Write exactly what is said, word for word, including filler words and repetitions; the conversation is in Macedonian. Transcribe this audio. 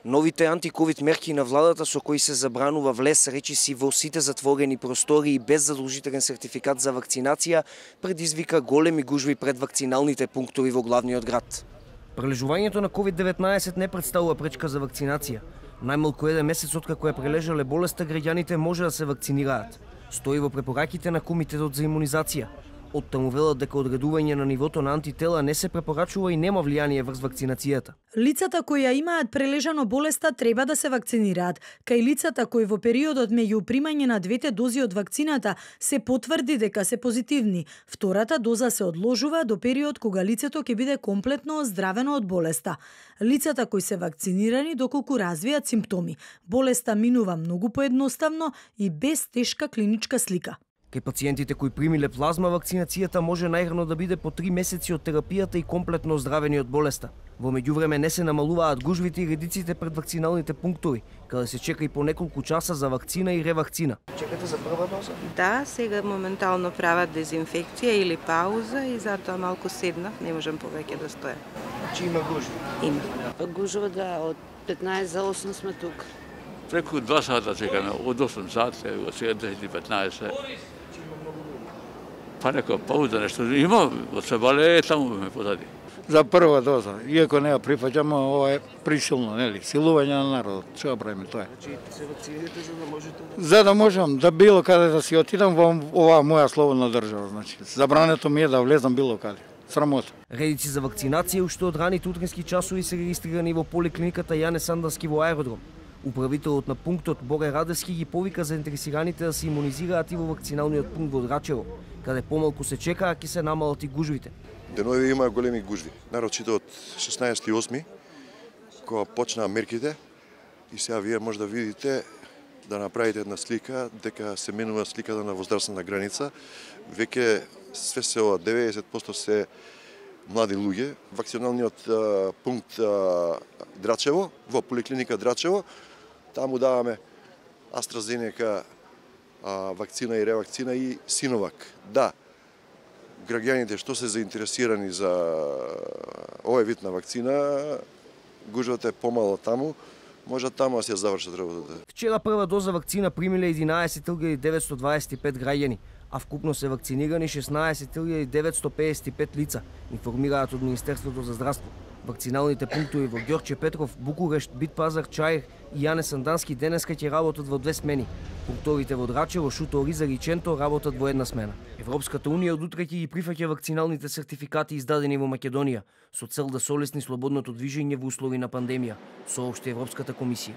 Новите антиковид мерки на владата со кои се забранува влез речиси во сите затворени простори без задолжителен сертификат за вакцинација предизвика големи гужви пред вакциналните пунктови во главниот град. Прележувањето на ковид деветнаесет не представува пречка за вакцинација. Најмалку еден месец откако ја прележале болеста, граѓаните може да се вакцинираат. Стои во препораките на Комитетот за имунизација. Оттаму велат дека одредување на нивото на антитела не се препорачува и нема влијание врз вакцинацијата. Лицата кои ја имаат прележано болеста треба да се вакцинираат, кај лицата кои во периодот меѓу примање на двете дози од вакцината се потврди дека се позитивни. Втората доза се одложува до период кога лицето ќе биде комплетно оздравено од болеста. Лицата кои се вакцинирани доколку развијат симптоми, болеста минува многу поедноставно и без тешка клиничка слика. Кај пациентите кои примиле плазма, вакцинацијата може најрано да биде по три месеци од терапијата и комплетно оздравени од болеста. Во меѓувреме не се намалуваат гужвите и редиците пред вакциналните пунктови, каде се чека и по неколку часа за вакцина и ревакцина. Чекате за прва доза? Да, сега моментално прават дезинфекција или пауза и затоа малку седнав, не можам повеќе да стоя. Значи има гужви? Има. Гужва да, од петнаесет за осум сме тук. Преку два сата чекаме, од осум сати, сега десет и петнаесет. Па некоја пауза нешто има, од Себале таму ме позади. За прва доза, иако не ја прифаќаме, ова е присилно, нели, силување на народот. Што правиме тоа? Значи се вакцинирате за да можете да... За да можам да било каде да си отидам во оваа моја слободна држава, значи. Забрането ми е да влезам било каде. Срамота. Редици за вакцинација уште од раните утрински часови се регистрирани во поликлиниката Јане Сандански во аеродром. Управителот на пунктот Боре Радевски ги повика заинтересираните да се имунизираат и во вакциналниот пункт во Драчево, каде помалку се чека, а ќе се намалат и гужвите. Денови има големи гужви, нарочито од шеснаесети осми, кога почнаа мерките, и сега вие може да видите, да направите една слика, дека се менува сликата на возрастна граница. Веќе све се ова деветдесет проценти се млади луѓе. Вакциналниот а, пункт а, Драчево, во поликлиника Драчево, таму даваме AstraZeneca а, вакцина и ревакцина и Синовак. Да, граѓаните што се заинтересирани за овој вид на вакцина, гужвата е помало таму, може таму да се завршат работата. Вчера прва доза вакцина примиле единаесет илјади деветсто дваесет и пет граѓани, а вкупно се вакцинирани шеснаесет илјади деветсто пеесет и пет лица, информираат од Министерството за здравство. Вакциналните пунктови во Ѓорче Петров, Букурешт, Битпазар, Чаир и Јане Сандански денеска ќе работат во две смени. Пунктовите во Драчево, Шуто, Оризар и Ченто работат во една смена. Европската унија од утре ќе ги прифаќа вакциналните сертификати издадени во Македонија, со цел да се олесни слободното движење во услови на пандемија, соопшти Европската комисија.